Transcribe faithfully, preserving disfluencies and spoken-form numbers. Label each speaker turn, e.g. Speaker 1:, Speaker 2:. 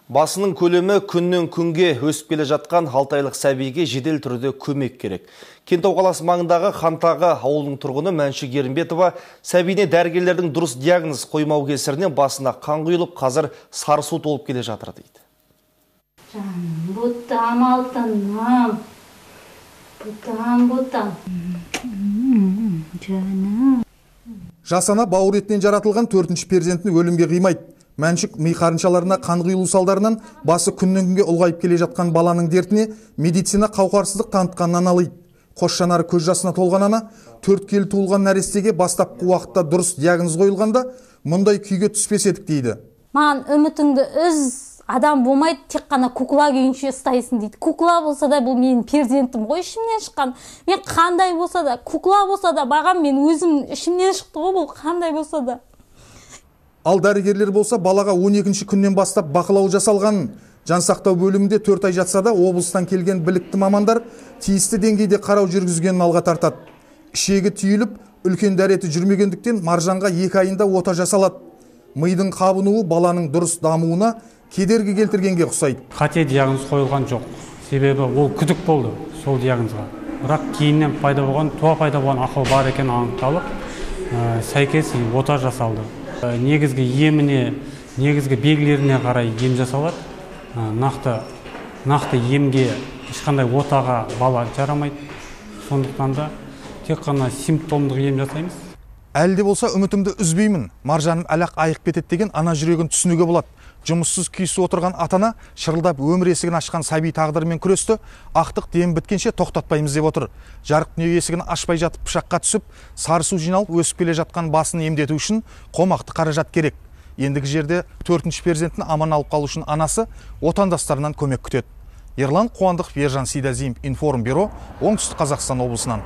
Speaker 1: Басының көлемі күннен күнге өсіп келе жатқан алты айлық сәбиге жедел түрде көмек керек. Кентау қаласы маңындағы Хантағы ауылының тұрғыны Мәншүк Ерімбетова сәбиіне дәрігерлердің дұрыс диагноз қоймау кесірінен басына қан құйылып, қазір сарысу толып келе жатыр дейді.
Speaker 2: Жаным, бұттам алтыным, бұттам, бұттам. Жаным.
Speaker 3: Жасана бауыр етінен жаратылған төртінші перзентін өлімге қимайды. Мәншүк ми қарыншаларына қан құйылу салдарынан басы күннен күнге ұлғайып келе жатқан баланың дертіне медицина қауқарсыздық танытқаннан алайды. Қос жанары көз жасына толған ана төрт келі туылған нәрестеге бастапқы уақытта дұрыс диагноз қойылғанда мұндай күйге түспес едік дейді.
Speaker 2: Маған үмітіңді үз, адам болмайды, тек қана кукла күйінше ұстайсың дейді. Кукла болса да бұл менің перзентім ғой, ішімнен шыққан. Мен қандай болса да, кукла болса да, бағам мен өзім ішімнен шықты ғой, бұл қандай болса да.
Speaker 3: Ал дәрігерлер болса балаға он екінші күннен бастап бақылау жасалғанын, жансақтау бөлімінде төрт ай жатса да облыстан келген білікті мамандар тиісті деңгейде қарау жүргізгенін алға тартады. Ішегі түйіліп, үлкен дәреті жүрмегендіктен Маржанға екі айында ота жасалады. Мидың қабынуы баланың дұрыс дамуына кедергі келтіргенге ұқсайды.
Speaker 4: Қате диагноз қойылған жоқ. Себебі ол күдік болды сол диагнозға. Бірақ кейіннен пайда болған, туа пайда болған ақау бар екені анықталып, сәйкес ота жасалды. Негізгі еміне, негізгі белгілеріне қарай ем жасалады. Нақты, нақты емге ешқандай отаға бала жарамайды. Сондықтан да тек қана симптомдық ем жасаймыз.
Speaker 3: Әлде болса үмітімді үзбеймін. Маржаным әлақ айық кетеді деген ана жүрегін түсінуге болады. Жұмыссыз күйсі отырған атана шырылдап өмір есігін ашқан сәби тағдырымен күресті, ақтық дем біткенше тоқтатпаймыз деп отыр. Жарық дүние есігін ашпай жатып пышаққа түсіп, сарысу жиналып өсіп келе жатқан басын емдету үшін қомақты қаражат керек. Ендігі жерде төртінші перзентін аман алып қалу үшін анасы отандастарынан көмек күтеді. Ерлан Қуандық, Ержан Сейдазимов, Информ бюро, Оңтүстік Қазақстан облысынан.